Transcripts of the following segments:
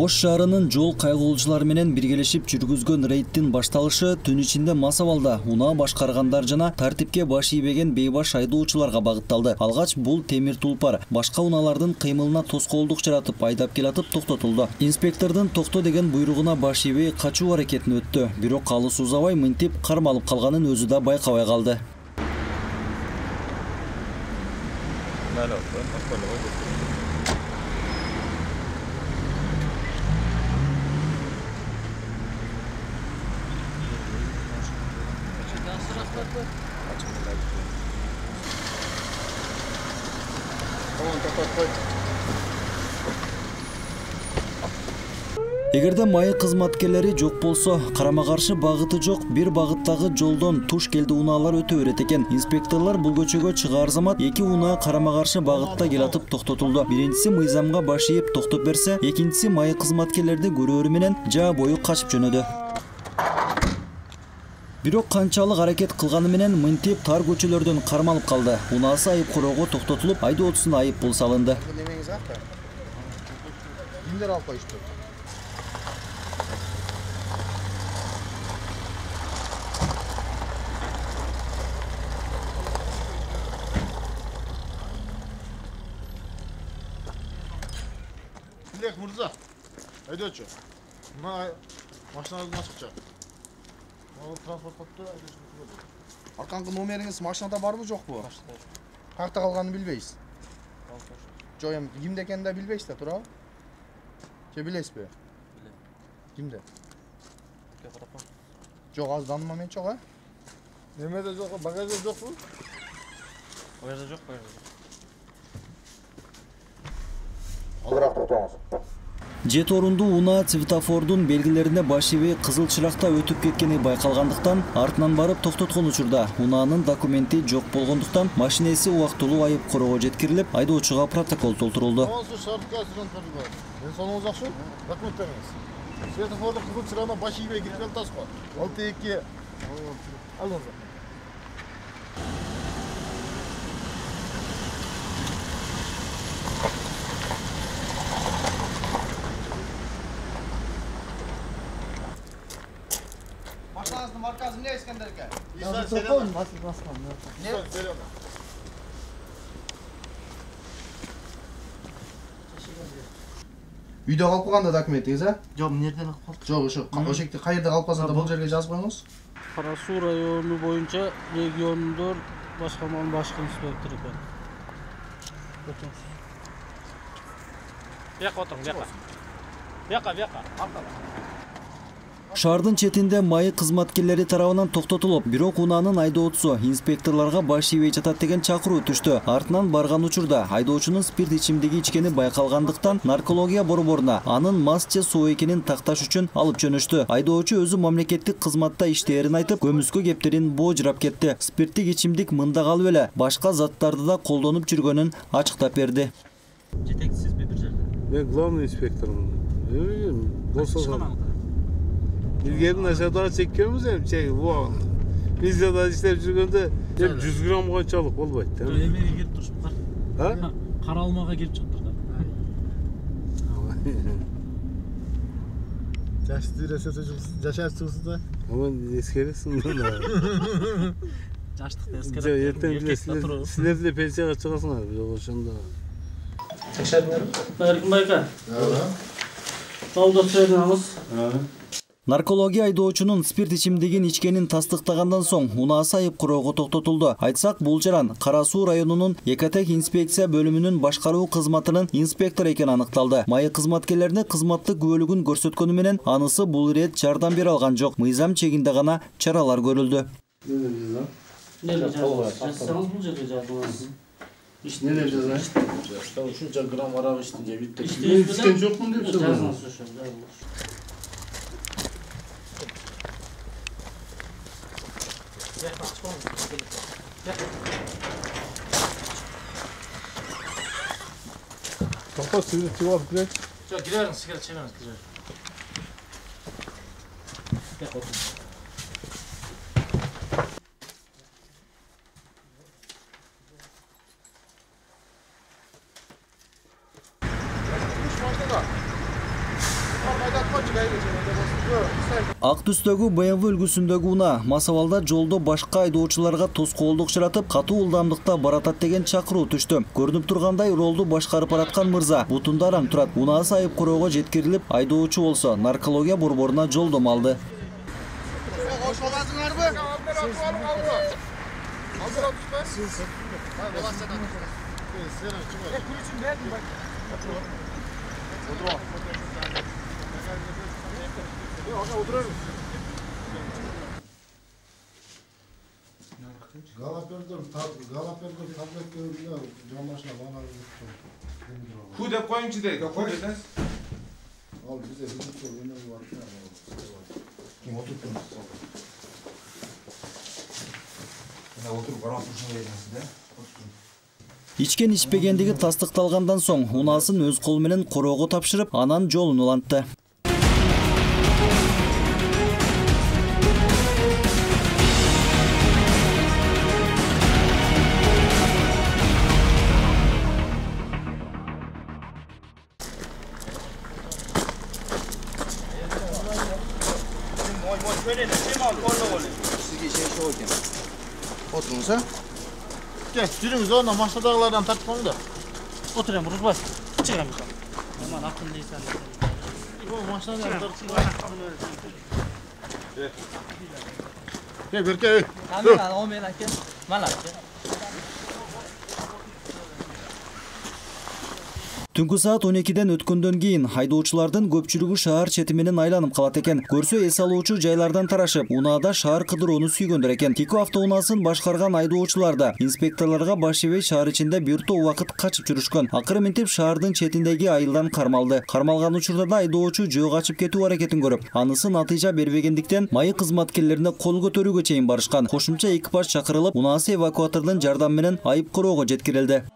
Ош шаарынын жол кайгылуучулар менен биргелешип жүргүзгөн рейдтин башталышы түн ичинде мас абалда унаа башкаргандар жана тартипке баш ийбеген бейбаш айдоочуларга багытталды. Алгач бул темир тулпар башка унаалардын кыймылына тоскоолдук жаратып айдап келатып токтотулду. Инспектордун токто деген буйругуна баш ийбей качуу аракетин өттү. Бирок алыс узабай мынтип кармалып калганын өзү да байкабай калды. Эгерде майы кызматкерлери жок болсо, карама-каршы багыты жок бир багыттагы жолдон туш келди унаалар өтө берет экен. Инспекторлор бул көчөгө чыгаар замат эки унаа карама-каршы багытта келатып токтотулду. Биринчиси мыйзамга баш ийип токтоп берсе, экинчиси майы кызматкерлерди көрөөрү менен жаа бою качып жөнөдү. Бирок канчалык аракет кылганы менен мынтип тар көчөлөрдөн кармалып калды. Унаасы айып короого токтотулуп, айдоочусуна айып пул салынды. Кимдер алып коюшту? Dilek Murza, aydoçu. Машинаңыздан чыкча. Транспортта арканкы номериңиз машинада барбы жокпу? Кайерде калганын билбейсиз. Жок, эми кимде экенин да билбейсиз да, туурабы? Же билесизби? Билем. Кимде? Жок, азыр таанымам жок, а? Немеде жок, багажда жокпу? Багажда жок, багажда жок. Алыраак токтоңуз. Жет орундуу унаа светофордун белгилерине баш ийбей кызыл чыракта өтүп кеткени байкалгандыктан, артынан барып токтоткон учурда унаанын документи жок болгондуктан машинеси убактылуу айып короого жеткирилип, айдоочуга протокол толтурулду. Денсаулыгыңыз жакшы? Рахмат бериңиз. Светофордун кызыл чырагына баш ийбей кирип жатасызбы? 6-2. Алыңыз. Машинаңыздын маркасы эмне Искендерге? Үйдө калып калганда документиңиз, а? Жок, эмнерден алып калдык? Жок, ошекте каерде калып калса да бул жерге жазып коюңуз. Кара Суу району боюнча региондор башкарманын башкы инспектору экен. Отуңуз. Бияка отуруң, бияка. Бияка, аркага. Шаардын четинде майы кызматкерлери тарабынан токтотулуп, бирок унаанын айдоочусу инспекторлорго баш ийбей жатат деген чакыруу түштү. Артынан барган учурда айдоочунун спирт ичимдиги ичкени байкалгандыктан наркология борборуна анын мас же соо экенин такташ үчүн алып жөнөштү. Айдоочу өзү мамлекеттик кызматта иштээрин айтып, көмүскө кептерин боожурап кетти. Спирттик ичимдик мында калып эле башка заттарды да колдонуп жүргөнүн ачыктап берди. Жетекчисизби бир жерде? Мен главный инспектормун. Илгери начардан чеккенбиз эми чеги. Бизде да иштеп жүргөндө 100 грамм канчалык болбойт да. Эмеге келип турушуп кар. Кара алмага келип чыктыр да. Жашаrsınız da. Ama eskerisin da. Жаштыкты эскерет. Силер деле пенсияга чыгасыңар, бирок ошондо. Текшердиңерби? Эркин байка. Жолдо чыгыңыз. Наркология айдоочунун спирт ичимдигин ичкенин тастыктагандан соң унаасы айып короого токтотулду. Айтсак, бул жаран Кара Суу районунун Экотек инспекция бөлүмүнүн башкаруу кызматынын инспектору экени аныкталды. Майы кызматкерлерине кызматтык күбөлүгүн көрсөткөнү менен анысы бул ирет жардам бере алган жок. Мыйзам чегинде гана чаралар көрүлдү. Неler жазасыз? Ушунча грамм арак иштин же битти. Ичкен жокмун деп сөйлөдүм. Topa suyunu tıvap girek. Yok, girelim, sigara çeviriniz, girelim. Gel otur. Ак түстөгү BMW үлгүсүндөгү унаа мас абалда жолдо башка айдоочуларга тоскоолдук чыратып, катуу ылдамдыкта баратат деген чакыруу түштү. Көрүнүп тургандай, ролду башкарып бараткан мырза бутунда араң турат. Унаасы айып короого жеткирилип, айдоочу болсо наркология борборуна жолдомо алды. Галапердон таблет берилип, жамашына бана Ку деп коюңчу дейт. ал бизе бүткө өнөр бар. Ким отурду? Отуруп карап турушуна бересиз да? Ичкен ичпегендиги тастыкталгандан соң унаасын өз колу менен короого тапшырып, анан жолун улантты. Sizge şey ekan. Oturunuz ha? Gel, жүрүңүз, онда машинадагылардан тартып коюң да. Отурам, Рузбай. Чыгам. Аман акылдыйсан. Машинадан тартып. Берке. Камера, о мен аке. Мала. Түнкү саат 12ден өткөндөн кийин айдоочулардын көпчүлүгү шаар чети менен айланып калат экен. Көрсө эс алуучу жайлардан тарашып, унаада шаар кыдырууну сүйгөндөр экен. Тико автоунаасын башкарган айдоочулар да инспекторлорго баш ийбей шаар ичинде бир топ убакыт качып жүрүшкөн. Акыры минтип шаардын четиндеги айылдан кармалды. Кармалган учурда да айдоочу жөө качып кетүү аракетин көрүп, анысы натыйжа бербегендиктен майы кызматкерлерине кол көтөрүүгө чейин барышкан. Кошумча экипаж чакырылып, унаасы эвакуатордун жардамы менен айып короого жеткирилди.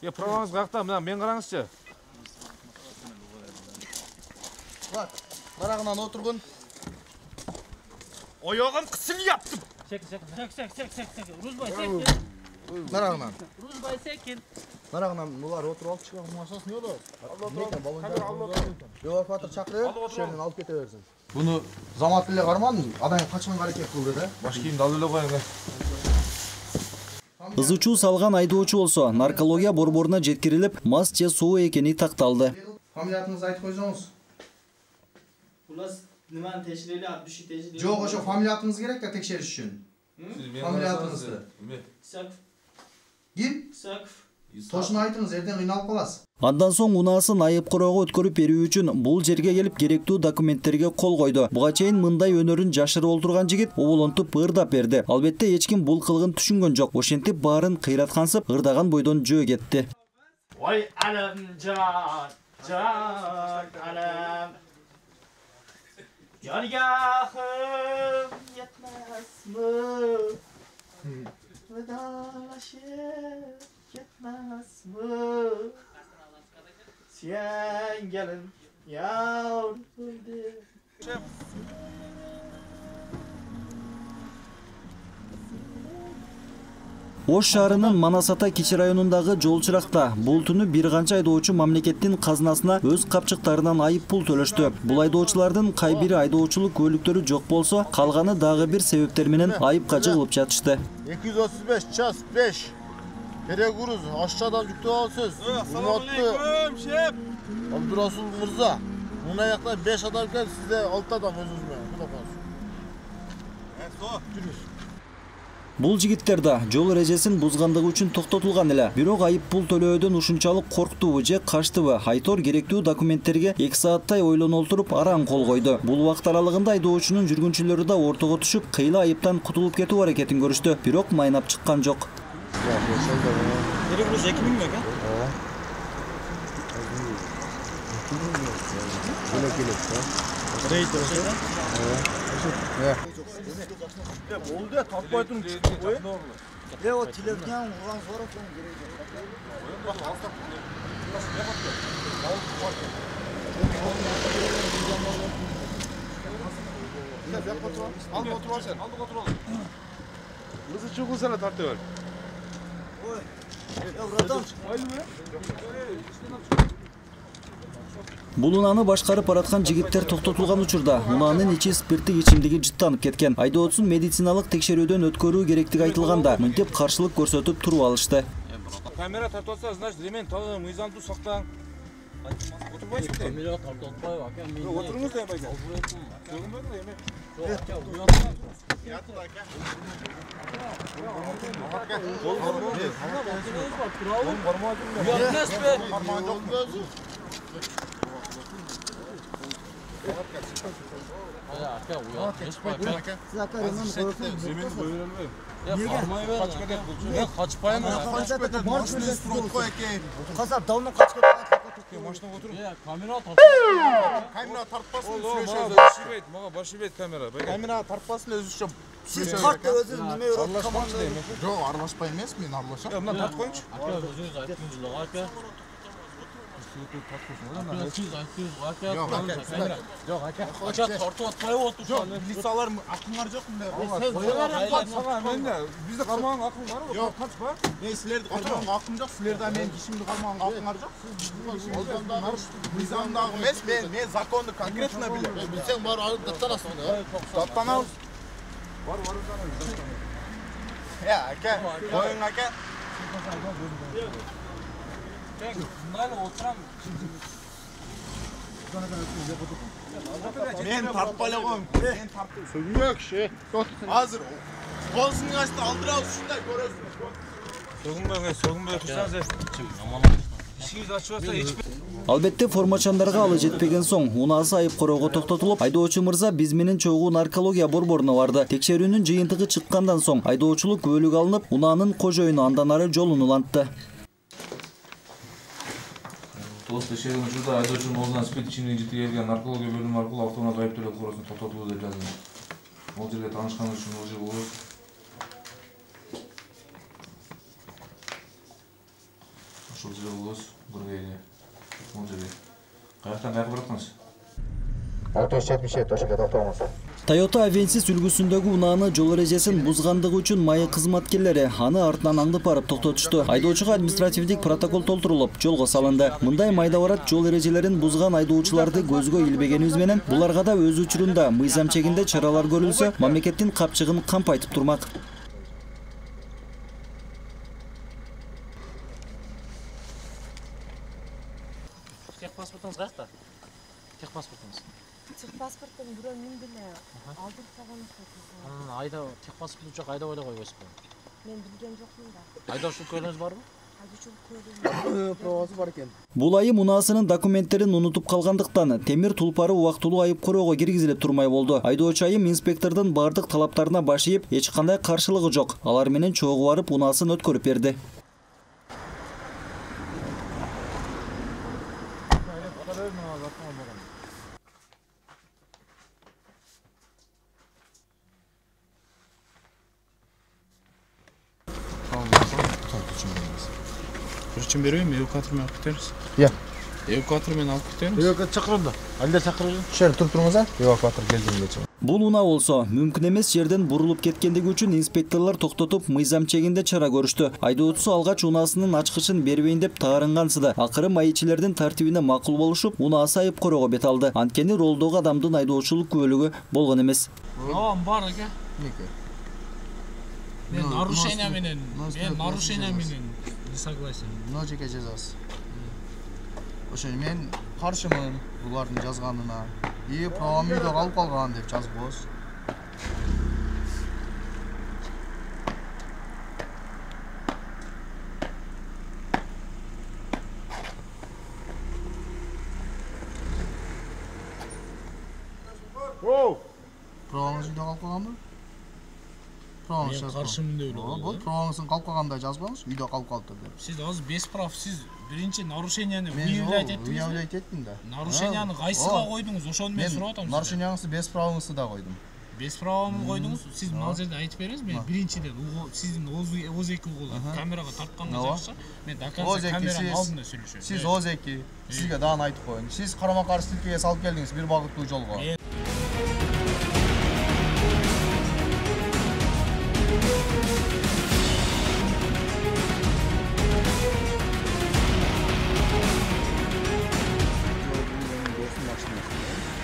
Праваңыз какта? Мына мен караңызчы. Бак, барагынан отургун. Оягын кысылыптым. Сек. Рузбай сек. Барагынан. Рузбай секин. Барагынан булар отуруп алып чыгып машинасы не болот? Эвакуатор чакырып, шерден алып кете берсин. Буну замат эле кармадым, адам качканга аракет кылды да. Баш кийимди алып эле коюң. Ызычуу салган айдоочу болсо наркология борборуна жеткирилип, мас же соо экени такталды. Фамилияңызды айтып койсоңуз. У нас неманы текшерели, атбыши текшерели. Жок, ошо фамилиятыңыз керек да текшериш үчүн. Фамилиятыңызды. Исаков. Ким? Исаков. Тошуну айтыңыз, эртең кыйналып каласыз. Андан соң унаасын айып короого өткөрүп берүү үчүн бул жерге келип керектүү документтерге кол койду. Буга чейин мындай өнөрүн жашырып олтурган жигит оболонтуп ырдап берди. Албетте эч ким бул кылыгын түшүнгөн жок. Ошентип баарын кыйраткансып, ырдаган бойдон жөө кетти. Ой, алам жан алам. Yargahım yetmez mi? Vedalaşıp yetmez mi? Sen gelin yavrum. Ош шаарынын Манас-Ата кичи районундагы жол чыракта бул түнү бир канча айдоочу мамлекеттин казынасына өз капчыктарынан айып пул төлөштү. Бул айдоочулардын кай бири айдоочулук көлүктөрү жок болсо, калганы дагы бир себептер менен айыпка жыгылып жатышты. 235 час 5. Перегруз ашчадан жүктөп алсыз. Ассалаумалейкум, шеф. Абдурасул мырза. Мына жакта 5 адам келди, сизде 6 адам өзүңүз менен. Куда коесуз? Бул жигиттер да жол эрежесин бузгандыгы үчүн токтотулган эле. Бирок айып пул төлөөдөн ушунчалык корктубу же качтыбы? Айтор керектүү документтерге 2 сааттай ойлоно олтуруп араң кол койду. Бул убакыт аралыгында айдоочунун жүргүнчүлөрү да ортого түшүп, кыйла айыптан кутулуп кетүү аракетин көрүштү. Бирок майнап чыккан жок. Перегруз 2000 mi ekan? Oldu ya, takmaytın çıktı koy. Ya o televizyon ulan sonra son gereği. Al motor var sen. Al motor al. Hızlı çok sana tartı ver. Ya buradan. Бул унааны башкарып бараткан жигиттер токтотулган учурда унаанын ичи спирттик ичимдиги жыттанып кеткен. Айдоочусун медициналык текшерүүдөн өткөрүү керектиги айтылганда, мынтип каршылык көрсөтүп туруп алышты. Камера тартып атса, значит, ремень тагы, мыйзамды сактаң. Отурбайсызбы? Камера тартып атпайбы, ака. Отуруңуз да эме. Сөгүнбөдү эме. Камера тартпасын, сүйлөшөбүз. Мага баш ийбейт камера. Камера тартпасын, өзүчө. Сиз тартты өзү неме Аралашмакчы да эме. Жок, аралашпай эмес, мен аралашам. Мына тартып коюңчу. Ака өзүңүз айттыңыз ака. Жок, ака тартып атпайбы отур. Жок, милициялар акыңар жок мындай. Бизде кармаган акың барбы? Жок, тартпа. Мен силерди кармаган акым жок, силерде мен кишимди кармаган акыңар жок. Мыйзамдагы эмес, мен законду конкретно билем. Билсең бар даттанасың да. Даттанабыз. Бар. Ака, коюң ака. Мен тартпай эле коем. Мен тартып. Сөгүнбө киши. Азыр колуңду ачты алдырабыз ушундай көрөсүң. Сөгүнбөй турсаңыз. Ишиңиз ачып атса эч. Албетте формачандарга алы жетпеген соң унаасы айып короого токтотулуп, айдоочу мырза биз менен чогуу наркология борборуна барды. Текшерүүнүн жыйынтыгы чыккандан соң айдоочулук күбөлүк алынып, унаанын кожоюну андан ары жолун улантты. Текшерүүнүн учурда айдоочунун оозунан спирт ичимдиги жеткирилген наркология бөлүмү аркылуу автоунаа айыптөлөк короосуна токтотулду деп жазылган. Бул жерге таанышканыңыз үчүн ылжый болобуз. Ошол жерде болобуз, Бургейге. Бул жерге. Каяктан каяка бараттыңыз? 677 ошоге токтогонсуз. Toyota Avensis үлгүсүндөгү унааны жол эрежесин бузгандыгы үчүн майы кызматкерлери аны артынан аңдып барып токтотушту. Айдоочуга административдик протокол толтурулуп, жолго салынды. Мындай майда барат жол эрежелерин бузган айдоочуларды көзгө илбегенибиз менен буларга да өз учурунда мыйзам чегинде чаралар көрүлсө, мамлекеттин капчыгын кампайтып турмак. Техпаспортуңуз каякта? Техпаспортуңуз. Техпаспорттун бирөө мен деле алдырып койгонмун. Айда техпаспорт жок, айда ойлой койбойсузбу? Мен билген жокмун да. Айдоочулук куәлигиңиз барбы? Айдоочулук куәлигим Пробасы бар экен. Бул айым унаасынын документтерин унутуп калгандыктан темир тулпары убактылуу айып короого киргизилип турмай болду. Айдоочу айым инспектордун бардык талаптарына баш ийип, эч кандай каршылыгы жок. Алар менен чогуу барып унаасын өткөрүп берди. Причем берейин, эвакуатор менен алып кетебиз. Эвакуатор менен алып кетебиз. Эвакуатор чакырында. Алда чакырып. Шер туруп туруңуз а? Эвакуатор келгенге. Бул унаа болсо мүмкүн эмес жерден бурулуп кеткендиги үчүн инспекторлор токтотуп, мыйзам чегинде чара көрүштү. Айдоочусу алгач унаасынын ачкычын бербейин деп таарынгансыды. Акыры майычилердин тартибине макул болушуп, унаасы айып короого бет алды. Анткени ролдогу адамдын айдоочулук күбөлүгү болгон эмес. Бар ака. Мен нарушение менен не согласен. Мына жеке жазасыз. Ошо мен каршымын булардын жазганына. Правам үйдө калып калган деп жазып коебуз. Праваңыз үйдө калып калганбы? Мен каршымын деп ойлогом. Бул праваңыздын калып калгандай жазбаңыз, үйдө калып калды деп. Сиз азыр без прав, сиз биринчи нарушенияны выявлять эттиңиз. Выявлять эттим да. Нарушенияны кайсыга койдуңуз? Ошону мен сурап атам. Нарушенияңызды без правыңызды да койдум. Без правамы койдуңуз? Сиз мына жерде айтып бериңиз. Мен биринчиден сиздин ОЗ2 угулу камерага тартканга жакшы. Мен до конца камеранын алдында сүйлөшөм. Сиз ОЗ2, сизге дагы айтып коеюн. Сиз карама-каршы тилкеге салып келдиңиз бир багыттуу жолго. машинасы.